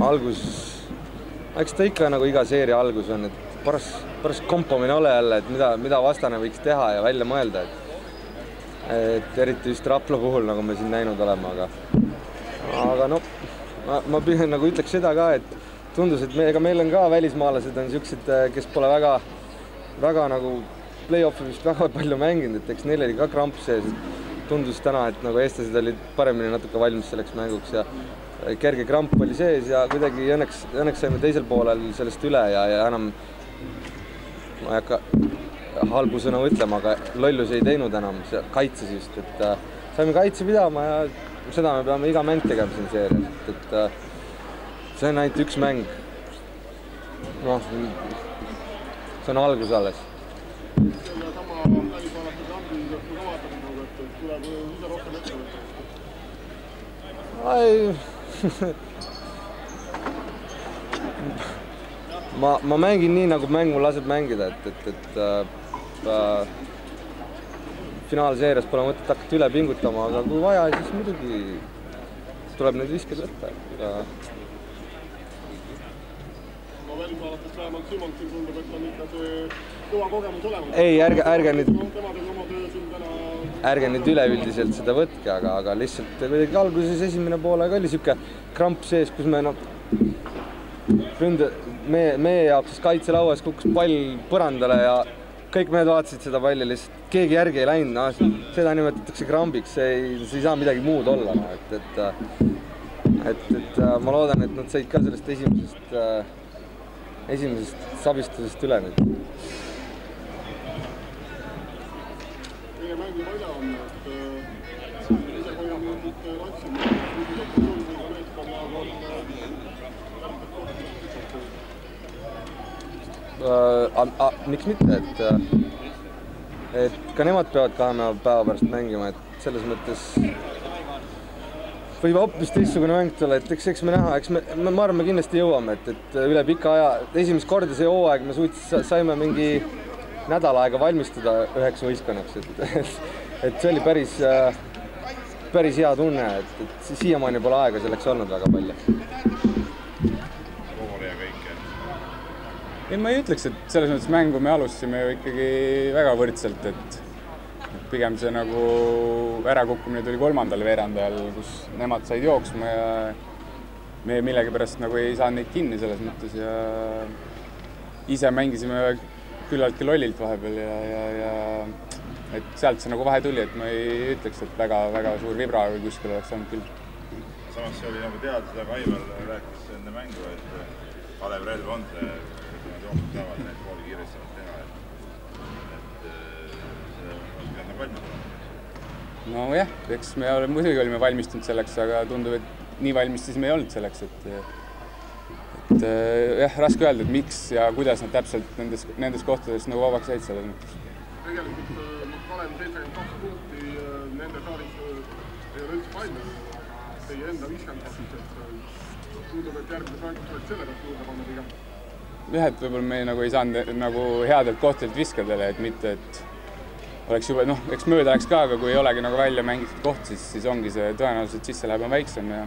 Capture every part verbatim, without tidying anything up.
Algus, eks ta ikka nagu iga seeria algus on, et paras, paras kompamine ole jälle, et mida, mida vastane võiks teha ja välja mõelda. Et, et eriti just Rapla puhul, nagu me siin näinud oleme, aga, aga no, ma, ma pühen, nagu ütleks seda ka, et tundus, et me, ega meil on ka välismaalased on siuksed, kes pole väga, väga nagu play-offi vist väga palju mänginud, et eks neil oli ka kramp sees. Tundus täna, et nagu eestlased olid paremini natuke valmis selleks mänguks ja kerge kramp oli sees ja kuidagi õnneks, õnneks saime teisel poolel sellest üle ja, ja enam ma ei hakka halbu sõna ütlema, aga lollus ei teinud enam, kaitses just, et äh, saime kaitse pidama ja seda me peame iga mäng tegema siin seerias, et, et äh, see on ainult üks mäng. Noh, see on algus alles. Ai, ma, ma mängin nii, nagu mäng mul laseb mängida, et, et, et äh, finaalseerias pole mõtet hakata üle pingutama, aga kui vaja, siis muidugi tuleb need visked võtta. Ja... Ma välismaalatest vähemalt Simonsil tundub, et on ikka see kõva kogemus olemas. Ei, ärge, ärge nüüd... ärge nüüd üleüldiselt seda võtke, aga, aga lihtsalt kuidagi alguses esimene poolega oli siuke kramp sees, kus me no, ründe, meie, meie jaoks kaitselauas kukkus pall põrandale ja kõik mehed vaatasid seda palli lihtsalt, keegi järgi ei läinud, no, seda nimetatakse krambiks, see ei, see ei saa midagi muud olla, no, et, et, et, et ma loodan, et nad said ka sellest esimesest, esimesest sabistusest üle nüüd. Meie mängi võida on, et ise kui on nüüd latsime, nüüd on ka meeskonnad on äh, miks mitte, et, et ka nemad peavad kahe päeva pärast mängima, et selles mõttes võib hoopis teistsugune mäng tulla, et eks, eks me näha, eks me, ma arvan, me kindlasti jõuame, et, et üle pika aja, esimest korda see hooaeg me suutis, saime mingi nädal aega valmistuda üheks võistkonnaks, et, et see oli päris, päris hea tunne, et, et siiamaani pole aega selleks olnud väga palju. Koole ja kõike. Ei, ma ei ütleks, et selles mõttes mängu me alustasime ju ikkagi väga võrdselt, et, et pigem see nagu ärakukkumine tuli kolmandal veerandajal, kus nemad said jooksma ja me millegipärast nagu ei saanud neid kinni selles mõttes ja ise mängisime küllaltki lollilt vahepeal ja, ja, ja et sealt see nagu vahe tuli, et ma ei ütleks, et väga, väga suur vibra või kuskil oleks olnud küll. Samas see oli nagu teada, seda Kaivel rääkis enne mängu, et Kalev relv on see, et nad jooksud saavad neid kooli kiiresti teha, et, et see on pidanud valmis olema. No jah, eks me muidugi olime valmistunud selleks, aga tundub, et nii valmis siis me ei olnud selleks, et et jah, raske öelda, et miks ja kuidas nad täpselt nendes, nendes kohtades nagu vabaks jäid selles mõttes. Tegelikult Kalev seitsekümmend kaks punkti nende saalis ei ole üldse valmis, teie enda viiskümmend kaks, et tundub, et järgmises mängus oleks selle pealt juurde panna pigem. Jah, et võib-olla me nagu ei saanud nagu headelt kohtadelt viskadele, et mitte, et oleks juba, noh, eks mööda läks ka, aga kui ei olegi nagu välja mängitud koht, siis, siis ongi see tõenäoliselt sisse läheb on väiksem ja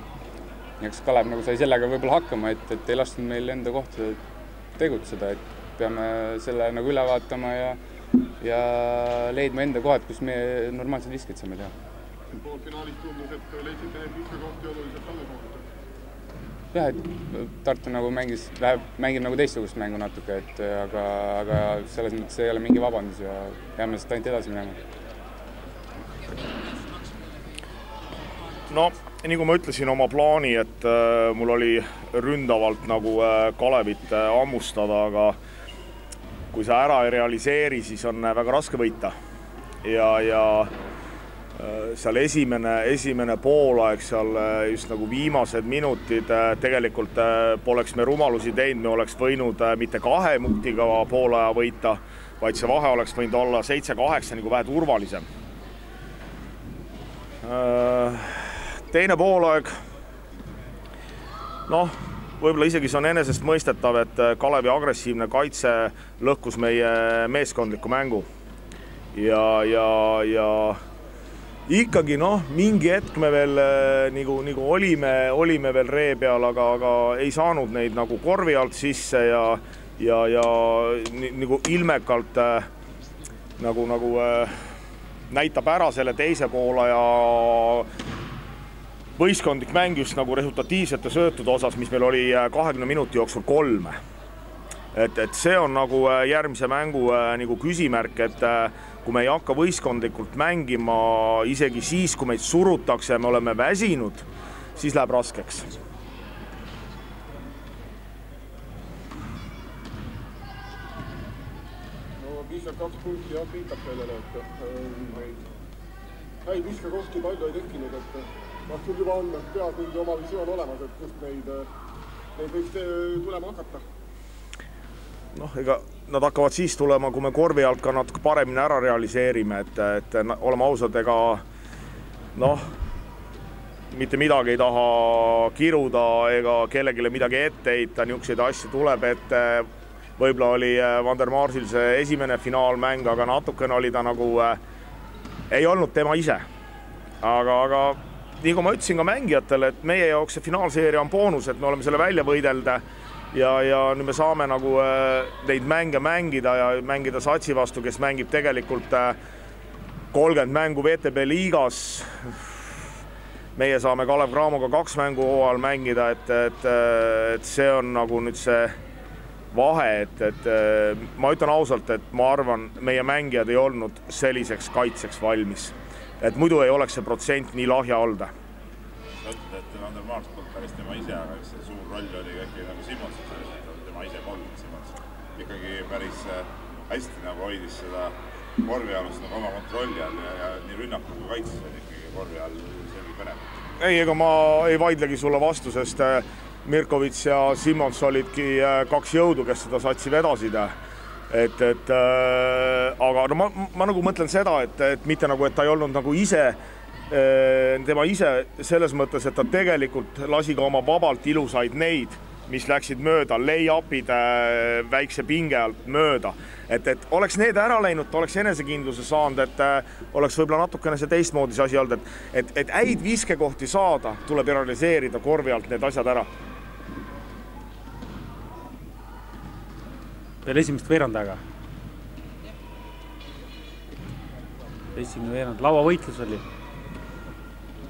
eks Kalev nagu sai sellega võib-olla hakkama, et, et ei lastud meil enda kohta tegutseda, et peame selle nagu üle vaatama ja, ja leidma enda kohad, kus me normaalselt viskid saame teha. Poolfinaalis tundus, et leidsite need viskakohti oluliselt alles olnud. Jah, et Tartu nagu mängis, mängib nagu teistsugust mängu natuke, et aga, aga selles mõttes ei ole mingi vabandus ja peame seda ainult edasi minema. No, nii kui ma ütlesin oma plaani, et äh, mul oli ründavalt nagu äh, Kalevit äh, ammustada, aga kui sa ära ei realiseeri, siis on äh, väga raske võita. Ja, ja äh, seal esimene, esimene poolaeg, seal äh, just nagu viimased minutid äh, tegelikult äh, poleks me rumalusi teinud, me oleks võinud äh, mitte kahe punktiga poolaja võita, vaid see vahe oleks võinud olla seitse kaheksa nagu vähe turvalisem. Äh, Teine poolaeg, noh, võib-olla isegi see on enesest mõistetav, et Kalevi agressiivne kaitse lõhkus meie meeskondliku mängu. Ja, ja, ja ikkagi noh, mingi hetk me veel nagu, nagu olime, olime veel ree peal, aga, aga ei saanud neid nagu korvi alt sisse ja, ja, ja nagu ilmekalt nagu, nagu näitab ära selle teise poole ja võistkondlik mäng just nagu resultatiivsete söötude osas, mis meil oli kahekümne minuti jooksul kolme. Et, et see on nagu järgmise mängu nagu küsimärk, et kui me ei hakka võistkondlikult mängima isegi siis, kui meid surutakse ja me oleme väsinud, siis läheb raskeks. No viiskümmend kaks punkti jah, viitab sellele, et neid häid viskekohti palju ei tekkinud, et kas sul juba on peas mingi oma visioon olemas, et kust neid, neid võiks tulema hakata? Noh, ega nad hakkavad siis tulema, kui me korvi alt ka natuke paremini ära realiseerime, et, et oleme ausad, ega noh, mitte midagi ei taha kiruda ega kellegile midagi ette heita, niisuguseid asju tuleb, et võib-olla oli Van der Marsil see esimene finaalmäng, aga natukene oli ta nagu, ei olnud tema ise. Aga, aga nii kui ma ütlesin ka mängijatele, et meie jaoks see finaalseeria on boonus, et me oleme selle välja võidelda ja, ja nüüd me saame nagu neid mänge mängida ja mängida Satsi vastu, kes mängib tegelikult kolmkümmend mängu V T B liigas. Meie saame Kalev Cramoga kaks mängu hooajal mängida, et, et, et see on nagu nüüd see vahe, et, et ma ütlen ausalt, et ma arvan, meie mängijad ei olnud selliseks kaitseks valmis. Et muidu ei oleks see protsent nii lahja olda. Sa ütled, et Van der Mars polnud päris tema ise, aga see suur roll oli äkki nagu Simons, tema ise polnud Simons. Ikkagi päris hästi nagu hoidis seda korvialust nagu oma kontrolli all ja, ja nii rünnaku kui kaitses oli ikkagi korvi all selgi põnev. Ei, ega ma ei vaidlegi sulle vastu, sest Mirkovits ja Simons olidki kaks jõudu, kes seda Satsi vedasid. Et, et, äh, aga no ma, ma nagu mõtlen seda, et, et mitte nagu, et ta ei olnud nagu ise, tema ise selles mõttes, et ta tegelikult lasi ka oma vabalt ilusaid neid, mis läksid mööda, lay-upid väikse pinge alt mööda. Et, et oleks need ära läinud, oleks enesekindluse saanud, et oleks võib-olla natukene see teistmoodi see asi olnud, et, et, et häid viskekohti saada, tuleb realiseerida korvi alt need asjad ära. Veel esimest veerandaga. Esimene veerand, lauavõitlus oli.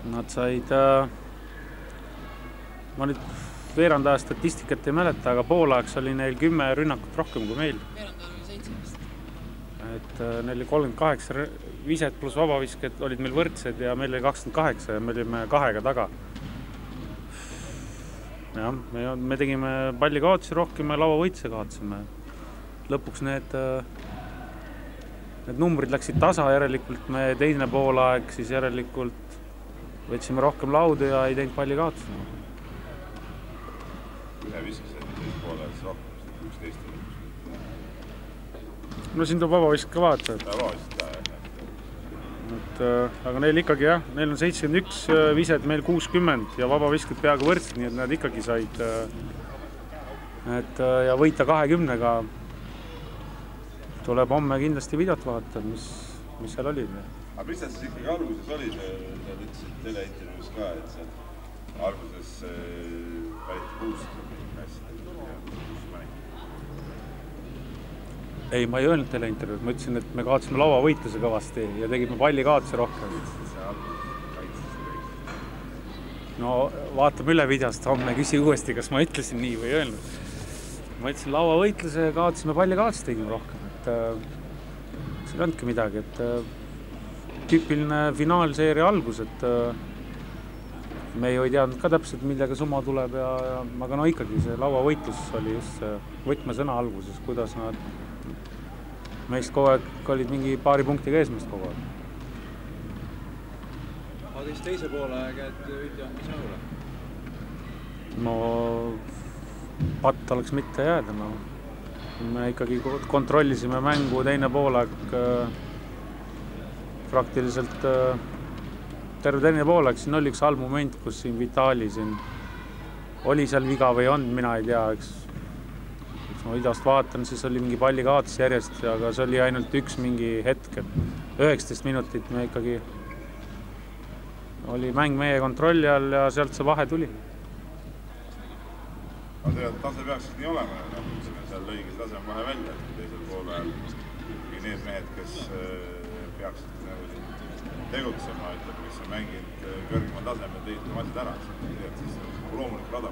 Nad said, ma nüüd veerandaja statistikat ei mäleta, aga poolajaks oli neil kümme rünnakut rohkem kui meil. Veerandaja oli seitseteist. Et neil oli kolmkümmend kaheksa viset pluss vabavisked olid meil võrdsed ja meil oli kakskümmend kaheksa ja me olime kahega taga. Ja, me, me tegime palli kaotusi rohkem ja lauavõitluse kaotusime. Lõpuks need, need numbrid läksid tasa, järelikult me teine poolaeg, siis järelikult võtsime rohkem laudu ja ei teinud palli kaotusi. Ühe viskased teist poolaeg rohkem, üksteist. No siin tuleb vabavisk ka vaata. Vabavisk ka, jah. Et, aga neil ikkagi jah, neil on seitsekümmend üks viset, meil kuuskümmend ja vabavisked peaaegu võrdsed, nii et nad ikkagi said et, ja võita kahekümnega. Tuleb homme kindlasti videot vaata, mis, mis seal oli. Aga mis see siis ikkagi alguses oli? Sa ütlesid teleintervjuus ka, et see alguses valiti kuust ei, ma ei öelnud teleintervjuus. Ma ütlesin, et me kaotasime lauavõitluse kõvasti ja tegime palli kaotuse rohkem. No vaatame üle videost, homme küsi uuesti, kas ma ütlesin nii või öelnud. Ma ütlesin lauavõitluse ja kaotasime palli kaotuse tegime rohkem. See ei olnudki midagi, et tüüpiline finaalseeria algus, et me ei teadnud ka täpselt, millega summa tuleb ja, ja aga no ikkagi see lauavõitlus oli just see võtmesõna alguses, kuidas nad meist kogu aeg olid mingi paari punktiga eesmest kogu aeg. Aga teist teise poole käed üldja, mis nõule? No patt oleks mitte jääda, no. Me ikkagi kontrollisime mängu teine poolaeg praktiliselt terve teine poolaeg, siin oli üks halb moment, kus siin Vitali siin oli seal viga või on, mina ei tea, eks ma videost vaatan, siis oli mingi palli kaotus järjest, aga see oli ainult üks mingi hetk, et üheksateist minutit me ikkagi oli mäng meie kontrolli all ja sealt see vahe tuli. Aga tegelikult tase peaks nii olema, nagu ütlesime, seal lõigi see tase vahe välja, et teisel poole ajal need mehed, kes peaksid nagu tegutsema, ütleb, kes on mänginud kõrgemal tasemel teised matsid ära, et siis on loomulik rada.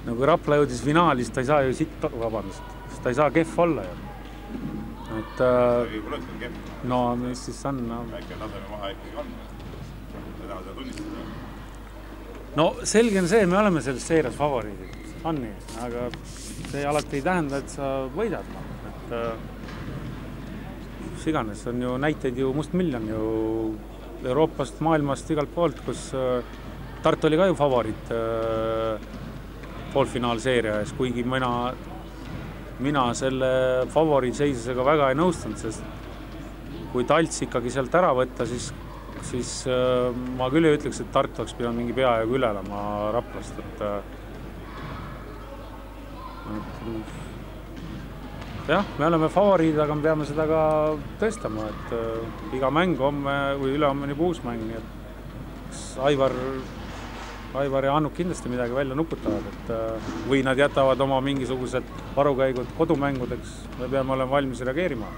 No kui Rapla jõudis finaali, siis ta ei saa ju sitt, vabandust, siis ta ei saa kehv olla ju. Et, no mis siis on? Väike taseme vahe ikkagi on. Seda on seda tunnistada. No selge on see, me oleme selles seerias favoriidid. On nii, aga see alati ei tähenda, et sa võidad. Et siganes on ju näiteid ju must miljon ju Euroopast, maailmast, igalt poolt, kus Tartu oli ka ju favoriit poolfinaalseeria ees, kuigi mina mina selle favoriitseisusega väga ei nõustunud, sest kui Talts ikkagi sealt ära võtta, siis, siis ma küll ei ütleks, et Tartu oleks pidanud mingi peaaegu üle olema Raplast. Et, et, jah, me oleme favoriid, aga me peame seda ka tõestama, et iga mäng homme või üle homme nii uus mäng, nii et Aivar Aivar ja Annuk kindlasti midagi välja nuputavad, et või nad jätavad oma mingisugused varukäigud kodumängudeks, me peame olema valmis reageerima.